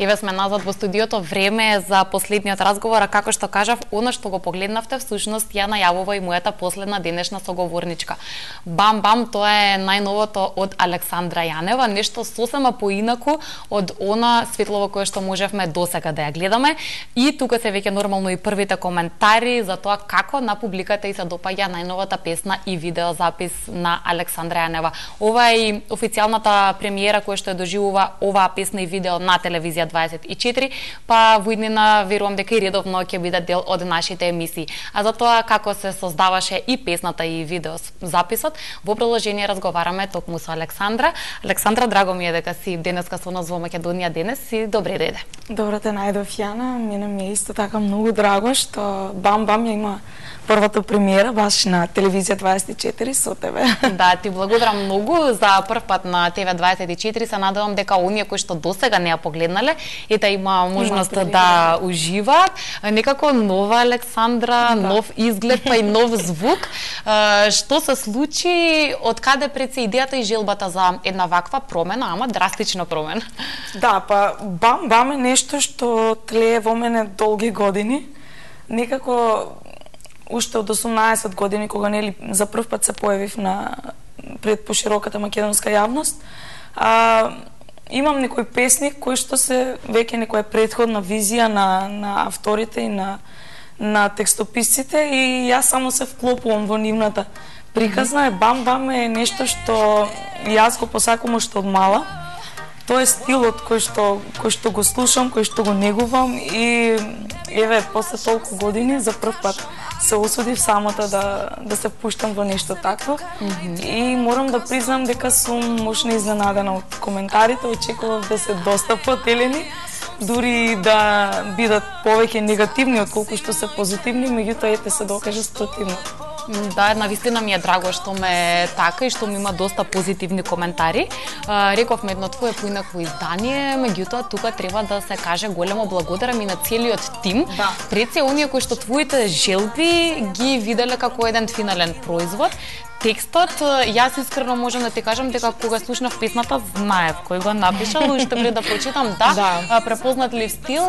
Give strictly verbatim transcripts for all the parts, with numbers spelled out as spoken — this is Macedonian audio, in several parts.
Еве сме назад во студиото, време е за последниот разговор, а како што кажав, она што го погледнавте всушност ја најавува и мојата последна денешна соговорничка. Бам бам, тоа е најновото од Александра Јанева, нешто сосема поинаку од она светлово кое што можевме досега да ја гледаме. И тука се веќе нормално и првите коментари за тоа како на публиката и се допаѓа најновата песна и видеозапис на Александра Јанева. Ова е и официјалната премиера која што ја доживува оваа песна и видео на телевизија дваесет и четири, па во иднина верувам дека и редовно ќе биде дел од нашите емисии. А за тоа како се создаваше и песната и видео записот, во продолжение разговараме токму со Александра. Александра, драго ми е дека си денеска со нас во Македонија денес и добре дојде. Добро те најдов, Јана. Мене ми е исто така многу драго што Бам Бам ја има првата премиера баш на телевизија дваесет и четири со тебе. Да, ти благодарам многу за прв пат на Т В дваесет и четири. Се надевам дека оние кои што досега не ја погледнале, ета има можност има да уживаат. Некако нова Александра, да. Нов изглед, па и нов звук. Што се случи, од каде пред се идејата и желбата за една ваква промена, ама драстична промена? Да, па Бам Бам е нешто што тлее во мене долги години. Некако уште од осумнаесет години, кога нели за прв пат се појавив на пред пошироката македонска јавност, а, имам некои песни кои што се веќе некоја претходна визија на на авторите и на на текстописците и јас само се вклопувам во нивната приказна. Mm-hmm. Бам Бам е нешто што јас го посакувам уште од мала. Тоа е стилот кој што кој што го слушам, кој што го негувам и еве после толку години за прв пат се осудив самата да да се впуштам во нешто такво. Mm-hmm. И морам да признам дека сум мощно изненадена од коментарите, очекував да се доста потелени, дури да бидат повеќе негативни отколку што се позитивни, меѓутоа ете се докажа спротивно. Да, навистина ми е драго што ме така и што ми има доста позитивни коментари. Рековме едно твое поинакво издание, меѓутоа тука треба да се каже големо благодарам и на целиот тим. Да. Пред се оние кои што твоите желби ги виделе како еден финален производ. Текстот, јас искрено можам да ти кажам дека кога слушнав песната знаев кој го напишал, уште пред да прочитам, да, да. Препознатлив стил,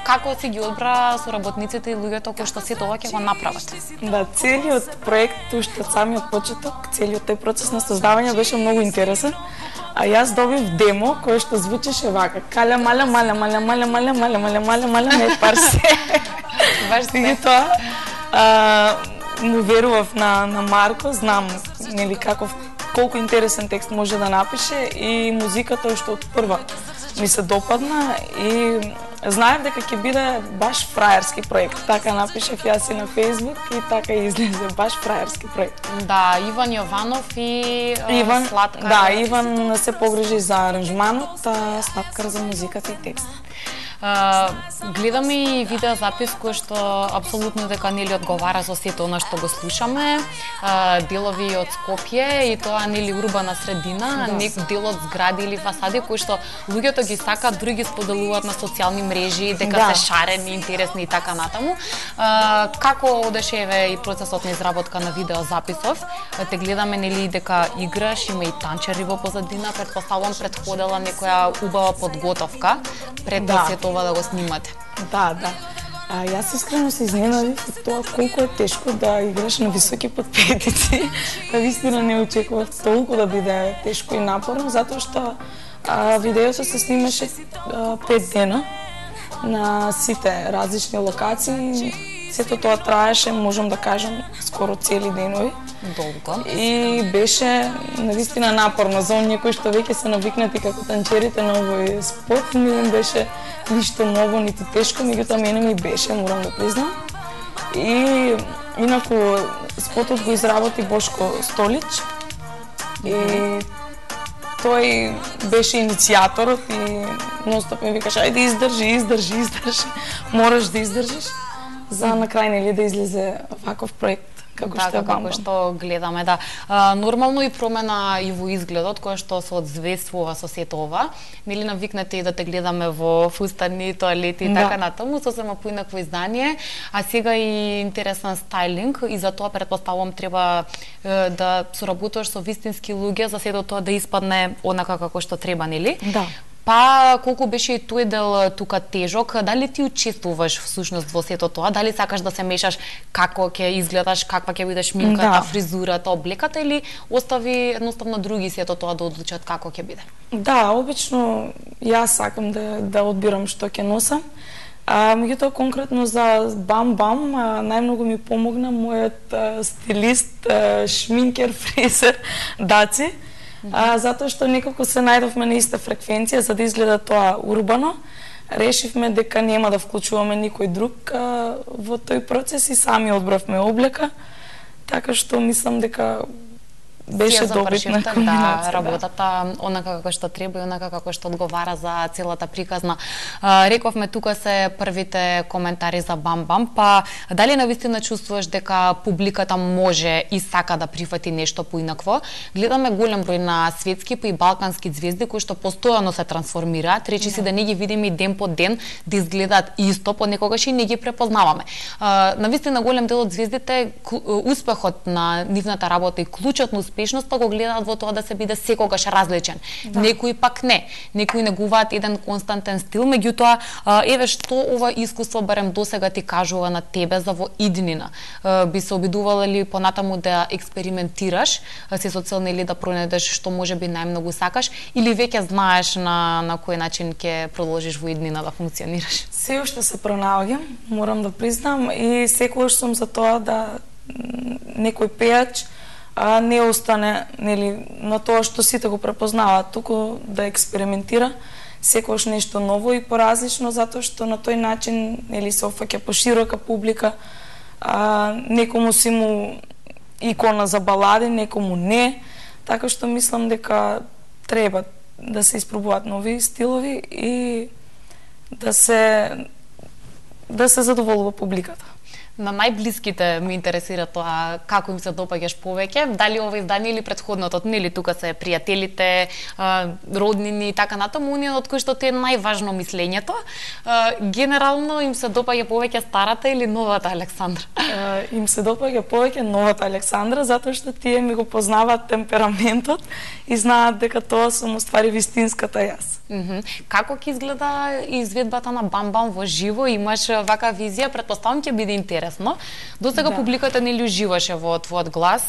како си ги одбра соработниците и луѓето кои што сето ова ќе го направат. Да, целиот проект уште од самиот почеток, целиот тој процес на создавање беше многу интересен. А јас добив демо кое што звучеше вака: каля маля маля маля маля маля маля маля маля маля не парсе. Баш се. Тоа му верував на на Марко, знам нели каков колку интересен текст може да напише и музиката уште од прва ми се допадна и знаев дека ќе биде баш фраерски проект. Така напишав јас и на Facebook и така и излезе баш фраерски проект. Да, Иван Јованов и Иван, Слаткар. Да, Иван се погрижи за аранжманот, а Слаткар за музиката и текст. Uh, гледаме и видеозапис кој што апсолутно дека нели одговара со сето она што го слушаме, uh, делови од Скопје и тоа нели урбана средина, да. Нек дел од згради или фасади кои што луѓето ги сакаат, други споделуваат на социјални мрежи дека да. Се шарени, интересни и така натаму. Uh, како одеше еве и процесот на изработка на видеозаписов? Те гледаме нели дека играш, има и танчери во позадина, претпоставувам претходела некоја убава подготовка пред да се ова да го снимате. Да, да. А, јас искрено се изненадив од тоа колку е тешко да играш на високи подпетици. Навистина не очекував толку да биде тешко и напорно, затоа што а, видеото се снимаше а, пет дена на сите различни локации. Сето тоа траеше, можам да кажам, скоро цели денови. Долго. И беше навистина напорно за оние кои што веќе се навикнати како танчерите на овој спот. Не им беше ништо ново, ниту тешко, меѓутоа мене ми беше, морам да признам. И инаку спотот го изработи Бошко Столич. И тој беше иницијаторот и ностоп ми викаше: ајде издржи, издржи, издржи. Мораш да издржиш за на крај нели да излезе ваков проект. Како да, што како што гледаме, да. А, нормално и промена и во изгледот која што се одзвествува со сето ова. Нели навикнете и да те гледаме во фустани, тоалети и да. Така натаму, сосема поинакво издание, а сега и интересен стајлинг и за тоа претпоставувам треба е, да соработуваш со вистински луѓе за сето тоа да испадне онака како што треба, нели? Да. Па колку беше и тој дел тука тежок, дали ти учествуваш всушност во сето тоа? Дали сакаш да се мешаш како ќе изгледаш, каква ќе биде шминката, да. фризурата, облеката или остави едноставно други сето тоа да одлучат како ќе биде? Да, обично јас сакам да да одбирам што ќе носам. А меѓутоа конкретно за Бам Бам најмногу ми помогна мојот а, стилист, а, шминкер, фризер Даци, mm -hmm. а, затоа што некако се најдовме на иста фреквенција за да изгледа тоа урбано. Решивме дека нема да вклучуваме никој друг а, во тој процес и сами одбравме облека, така што мислам дека беше добитна комбинација. Да, работата онака како што треба и онака како што одговара за целата приказна. А, рековме тука се првите коментари за Бам Бам, па дали навистина чувствуваш дека публиката може и сака да прифати нешто поинакво? Гледаме голем број на светски па и балкански звезди кои што постојано се трансформираат, речи си да не ги видиме и ден по ден да изгледаат исто, понекогаш и не ги препознаваме. А, навистина голем дел од звездите успехот на нивната работа и клучот на успешноста го гледаат во тоа да се биде секогаш различен. Да. Некои пак не. Некои негуваат еден константен стил, меѓутоа еве што ова искуство барем досега ти кажува на тебе за во иднина. Би се обидувала ли понатаму да експериментираш, се со цел нели да пронајдеш што можеби најмногу сакаш или веќе знаеш на на кој начин ќе продолжиш во иднина да функционираш? Се уште се пронаоѓам, морам да признам, и секогаш сум за тоа да некој пејач а не остане нели на тоа што сите го препознаваат, туку да експериментира секогаш нешто ново и поразлично, затоа што на тој начин нели се опфаќа поширока публика. А, некому си му икона за балади, некому не, така што мислам дека треба да се испробуваат нови стилови и да се да се задоволува публиката. На најблиските ме интересира тоа како им се допаѓаш повеќе, дали ова издание или претходното, нели тука се пријателите, роднини и така натаму, оние од кои што ти е најважно мислењето. Генерално им се допаѓа повеќе старата или новата Александра? Им се допаѓа повеќе новата Александра, затоа што тие ми го познаваат темпераментот и знаат дека тоа сум уствари вистинската јас. Mm -hmm. Како ќе изгледа изведбата на Бам Бам во живо? Имаш вака визија, претпоставам ќе биде интересно. До сега да. Публиката нели уживаше во твојот глас,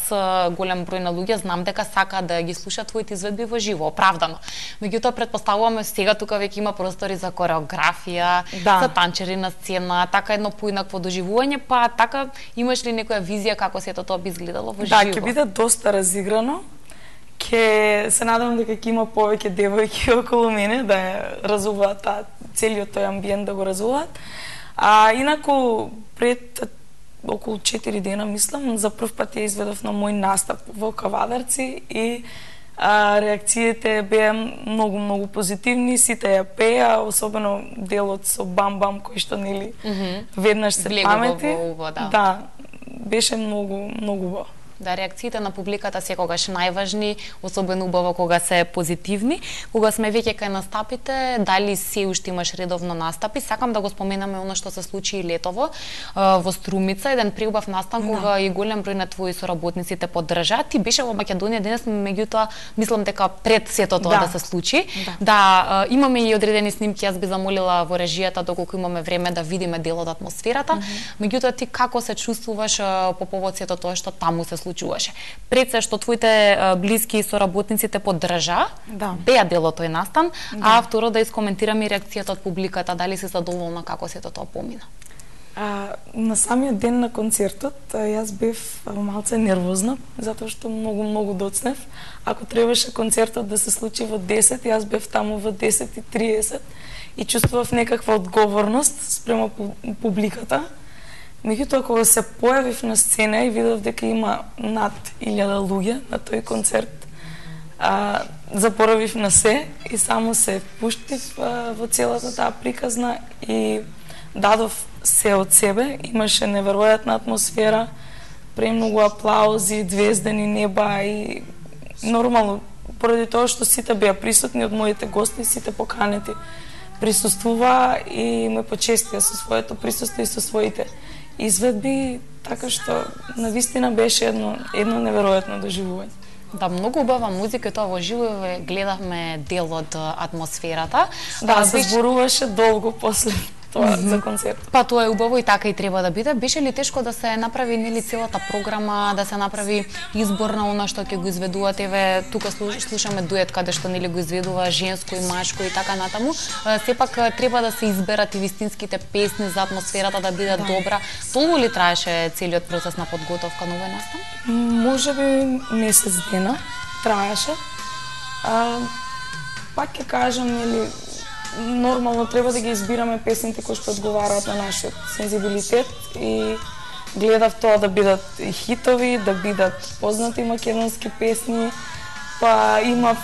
голем број на луѓе знам дека сака да ги слушаат твоите изведби во живо, оправдано. Меѓутоа претпоставуваме сега тука веќе има простори за кореографија, да. За танчери на сцена, така едно поинакво доживување, па така имаш ли некоја визија како сето тоа би изгледало во да, живо? Да, ќе биде доста разиграно. Ке се надевам дека ќе има повеќе девојки околу мене да разуваат та, целиот тој амбиент да го разуваат. А инаку пред околу четири дена мислам за прв пат ја изведов на мој настап во Кавадарци и а, реакциите беа многу многу позитивни, сите ја пеа, особено делот со Бам Бам кој што нели mm -hmm. веднаш се Влегува памети. Во уво, да. Да, беше многу многу убаво. Да, реакциите на публиката секогаш најважни, особено убаво кога се позитивни. Кога сме веќе кај настапите, дали се уште имаш редовно настапи? Сакам да го споменаме оно што се случи и летово во Струмица, еден преубав настан кога да. И голем број на твои соработници те поддржаа. Ти беше во Македонија денес, меѓутоа мислам дека пред сето тоа да, да се случи. Да. да, имаме и одредени снимки, јас би замолила во режијата доколку имаме време да видиме дел од атмосферата. Mm -hmm. Меѓутоа ти како се чувствуваш по повод сето тоа што таму се случи? Пред се што твоите блиски соработници те поддржаа, да. Беа дел од тој настан, да. А второ да искоментираме и реакцијата од публиката, дали си задоволна како сето тоа помина? А, на самиот ден на концертот јас бев малце нервозна, затоа што многу многу доцнев. Ако требаше концертот да се случи во десет, јас бев таму во десет и триесет и чувствував некаква одговорност спрема публиката. Меѓутоа, кога се појавив на сцена и видов дека има над илјада луѓе на тој концерт, а, запоравив на се и само се впуштив а, во целата таа приказна и дадов се од себе. Имаше неверојатна атмосфера, премногу аплаузи, звездени неба и нормално, поради тоа што сите беа присутни од моите гости, сите поканети присуствуваа и ме почестија со своето присуство и со своите изведби, така што навистина беше едно едно неверојатно доживување. Да, многу убава музика и тоа во живо гледавме дел од атмосферата. Да, се зборуваше долго после тоа за концерт. Па тоа е убаво и така и треба да биде. Беше ли тешко да се направи нели целата програма, да се направи избор на она што ќе го изведуваат? Еве тука слушаме дует каде што нели го изведува женско и машко и така натаму. Сепак треба да се изберат и вистинските песни за атмосферата да биде да. добра. Толку ли траеше целиот процес на подготовка на овој настан? Можеби месец дена траеше. А, пак ќе кажам, нели, нормално треба да ги избираме песните кои што одговараат на нашиот сензибилитет и гледав тоа да бидат хитови, да бидат познати македонски песни, па имав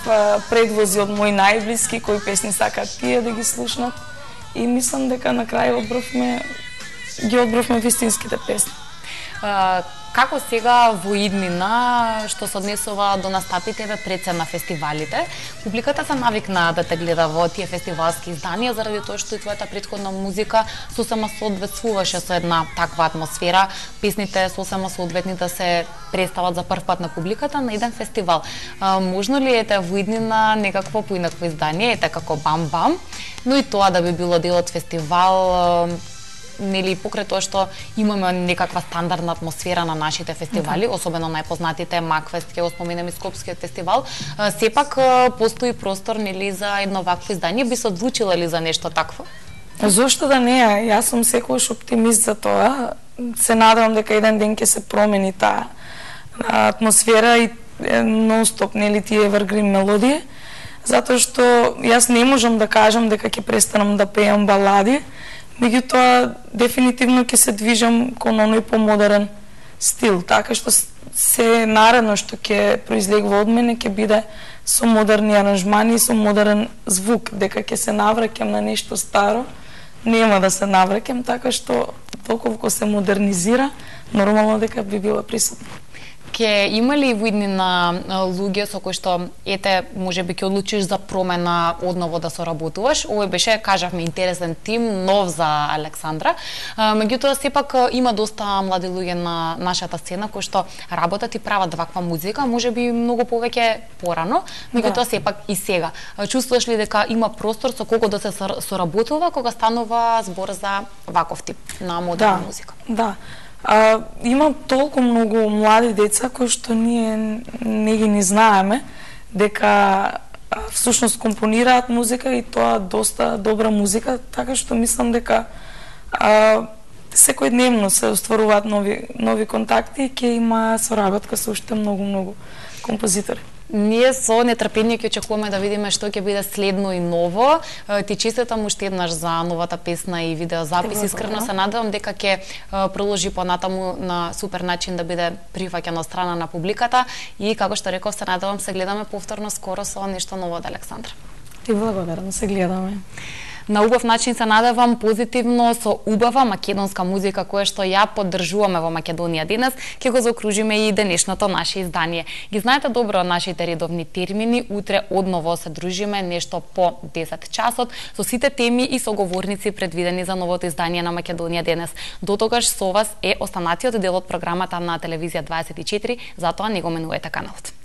предвози од мои најблиски кои песни сакаат тие да ги слушнат и мислам дека на крај одбравме ги одбравме вистинските песни. Uh, како сега во иднина што се однесува до настапите пред се на фестивалите, публиката се навикна да те гледа во тие фестивалски изданија заради тоа што и твојата претходна музика сосема соодветствуваше со една таква атмосфера, песните сосема соодветни да се представат за прв пат на публиката на еден фестивал. Uh, можно ли ете во иднина некакво поинакво издание, ете како Бам Бам, но и тоа да би било дел од фестивал, uh, нели покрај тоа што имаме некаква стандардна атмосфера на нашите фестивали, okay. особено најпознатите Макфест, ќе го споменеме Скопскиот фестивал, сепак постои простор нели за едно вакво издание, би се одлучила ли за нешто такво? Зошто да не? Јас сум секогаш оптимист за тоа. Се надевам дека еден ден ќе се промени таа атмосфера и нон-стоп нели тие evergreen мелодии, затоа што јас не можам да кажам дека ќе престанам да пеам балади. Меѓутоа, дефинитивно ќе се движам кон оној помодерен стил, така што се наредно што ќе произлегува од мене ќе биде со модерни аранжмани и со модерен звук, дека ќе се навраќам на нешто старо, нема да се навраќам, така што толку се модернизира, нормално дека би била присутна. Ке има ли во иднина луѓе со кои што ете можеби ќе одлучиш за промена одново да соработуваш? Овој беше, кажавме, интересен тим, нов за Александра. Меѓутоа сепак има доста млади луѓе на нашата сцена кои што работат и прават ваква музика, можеби многу повеќе порано, меѓутоа да. Сепак и сега. Чувствуваш ли дека има простор со кого да се соработува кога станува збор за ваков тип на модерна да, музика? Да. А, има толку многу млади деца кои што ние не ги ни знаеме, дека а, всушност компонираат музика и тоа доста добра музика, така што мислам дека а, секојдневно се остваруваат нови нови контакти и ќе има соработка со уште многу многу композитори. Ние со нетрпение ќе очекуваме да видиме што ќе биде следно и ново. Ти честитам уште еднаш за новата песна и видеозапис. Искрено се надевам дека ќе продолжи понатаму на супер начин да биде прифаќано од страна на публиката и како што реков се надевам се гледаме повторно скоро со нешто ново од Александра. Ти благодарам, се гледаме. На убав начин се надевам позитивно со убава македонска музика која што ја поддржуваме во Македонија денес, ќе го заокружиме и денешното наше издание. Ги знаете добро нашите редовни термини, утре одново се дружиме нешто по десет часот со сите теми и соговорници предвидени за новото издание на Македонија денес. Дотогаш со вас е останатиот дел од програмата на телевизија дваесет и четири, затоа не го менувајте каналот.